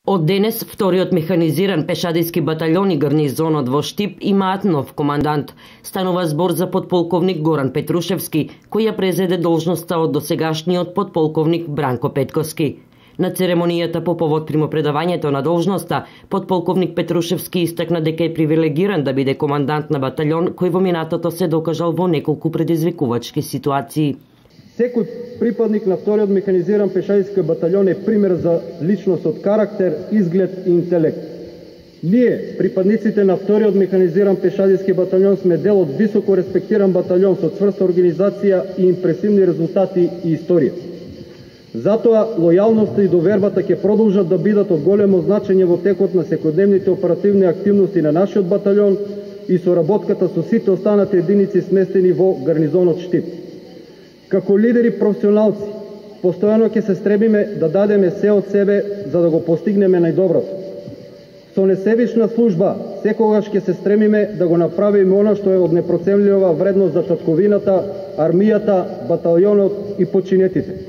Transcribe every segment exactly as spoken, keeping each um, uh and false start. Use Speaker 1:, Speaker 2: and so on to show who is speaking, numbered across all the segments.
Speaker 1: Од денес, вториот механизиран пешадиски батальон и гарнизонот во Штип имаат нов командант. Станува збор за подполковник Горан Петрушевски, кој ја презеде должноста од досегашниот подполковник Бранко Петковски. На церемонијата по повод примопредавањето на должноста, подполковник Петрушевски истакна дека е привилегиран да биде командант на батальон кој во минатото се докажал во неколку предизвикувачки ситуации.
Speaker 2: Секој припадник на вториот механизиран пешадиски батальон е пример за личност од карактер, изглед и интелект. Ние, припадниците на вториот механизиран пешадиски батальон, сме дел од високо респектиран батальон со цврста организација и импресивни резултати и историја. Затоа, лојалноста и довербата ќе продолжат да бидат од големо значење во текот на секојдневните оперативни активности на нашиот батальон и соработката со сите останати единици сместени во гарнизонот Штип. Како лидери професионалци, постојано ќе се стребиме да дадеме се од себе за да го постигнеме најдоброто. Со несебична служба, секогаш ќе се стремиме да го направиме она што е од непроценлива вредност за татковината, армијата, батальонот и подчинетите.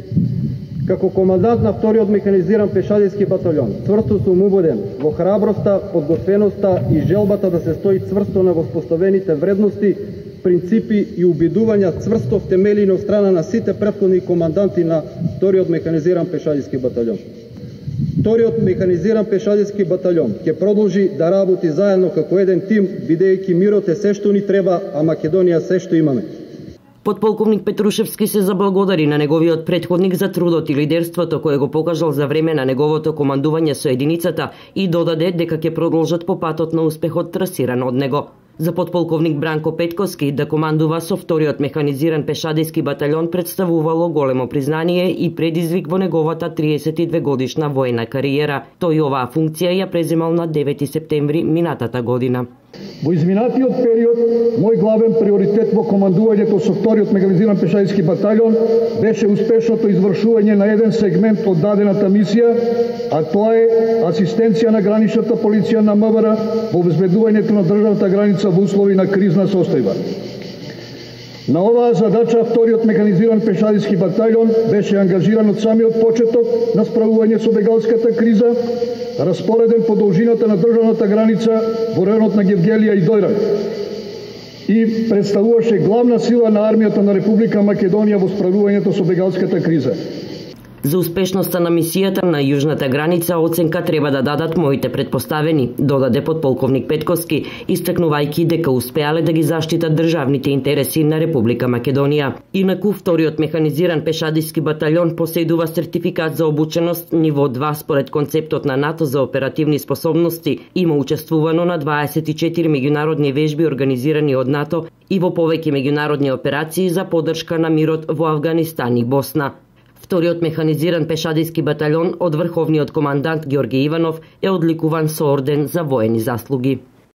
Speaker 2: Како командант на вториот механизиран пешадиски батальон, цврсто сум убеден во храброста, подготвеноста и желбата да се стои цврсто на воспоставените вредности, принципи и убедувања цврсто втемелени од страна на сите претходни команданти на вториот механизиран пешадиски батальон. Вториот механизиран пешадиски батальон ќе продолжи да работи заедно како еден тим, бидејќи мирот е се што ни треба, а Македонија се што имаме.
Speaker 1: Подполковник Петрушевски се заблагодари на неговиот претходник за трудот и лидерството кој го покажал за време на неговото командување со единицата и додаде дека ќе продолжат по патот на успехот трасиран од него. За подполковник Бранко Петковски да командува со вториот механизиран пешадиски батальон представувало големо признание и предизвик во неговата триесет и две годишна војна кариера. Тој оваа функција ја преземал на девети септември минатата година.
Speaker 3: Во изминатиот период, мој главен приоритет во командувањето со вториот механизиран пешадиски батальон беше успешното извршување на еден сегмент од дадената мисија, а тоа е асистенција на граничната полиција на МВР во обезбедувањето на државната граница во услови на кризна состојба. На оваа задача вториот механизиран пешадиски батальон беше ангажиран од самиот почеток на справување со бегалската криза, распореден по должината на државната граница во районот на Гевгелија и Дојран и представуваше главна сила на армијата на Република Македонија во справувањето со бегалската криза.
Speaker 1: За успешноста на мисијата на јужната граница оценка треба да дадат моите предпоставени, додаде подполковник Петковски, истакнувајќи дека успеале да ги заштитат државните интереси на Република Македонија. Инаку вториот механизиран пешадиски батальон поседува сертификат за обученост ниво два според концептот на НАТО за оперативни способности. Има учествувано на дваесет и четири меѓународни вежби организирани од НАТО и во повеќе меѓународни операции за поддршка на мирот во Авганистан и Босна. Вториот механизиран пешадиски батальон од врховниот командант Ѓорѓе Иванов е одликуван со орден за воени заслуги.